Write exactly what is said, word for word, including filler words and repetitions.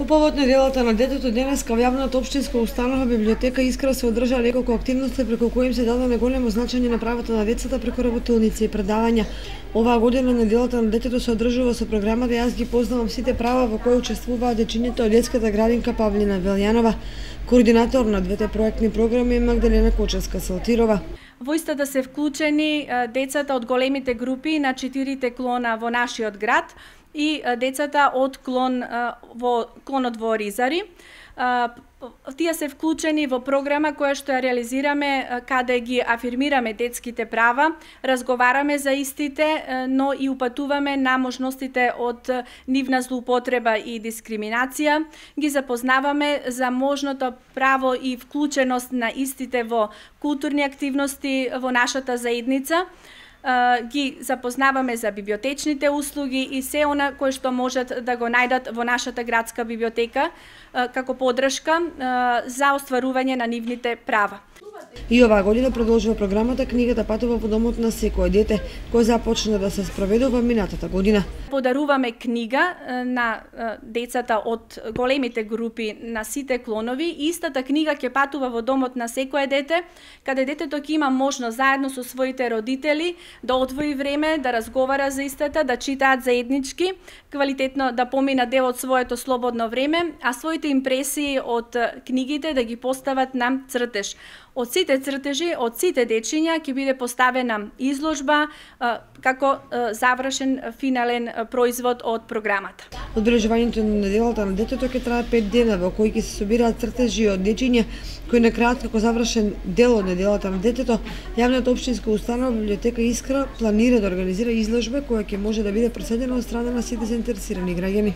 По повод неделата на детето денеска во јавната општинска установа библиотека Искра се одржа неколку активности преку кои им се даде големо значење на правата на децата преку работилници и предавања. Оваа година неделата на детето се одржува со програмата Јас ги познавам сите права, во која учествуваат дечињата од детската градинка Павлина Велјанова. Координатор на двете проектни програми е Магдалена Кочевска-Салтирова. Во истата се вклучени децата од големите групи на четирите клона во нашиот град и децата од клон во клонот во Оризари. Тие се вклучени во програма која што ја реализираме каде ги афирмираме детските права, разговараме за истите, но и упатуваме на можностите од нивна злоупотреба и дискриминација, ги запознаваме за можното право и вклученост на истите во културни активности во нашата заедница, ги запознаваме за библиотечните услуги и се она кое што можат да го најдат во нашата градска библиотека како поддршка за остварување на нивните права. И оваа година продолжува програмата Книгата патува во домот на секое дете, која започна да се спроведува минатата година. Подаруваме книга на децата од големите групи на сите клонови и истата книга ќе патува во домот на секое дете, каде детето ќе има можност заедно со своите родители да одвои време, да разговара за истата, да читаат заеднички, квалитетно да помина дел од своето слободно време, а своите импресии од книгите да ги постават на цртеж. Од сите цртежи, од сите дечиња ќе биде поставена изложба како завршен финален производ од програмата. Одбележувањето на неделата на детето ќе трае пет дена, во кои ќе се собираат цртежи од дечиња кои на крајот како завршен дел од неделата на детето, јавната општинска установа библиотека Искра планира да организира изложба која ќе може да биде проследена од страна на сите заинтересирани граѓани.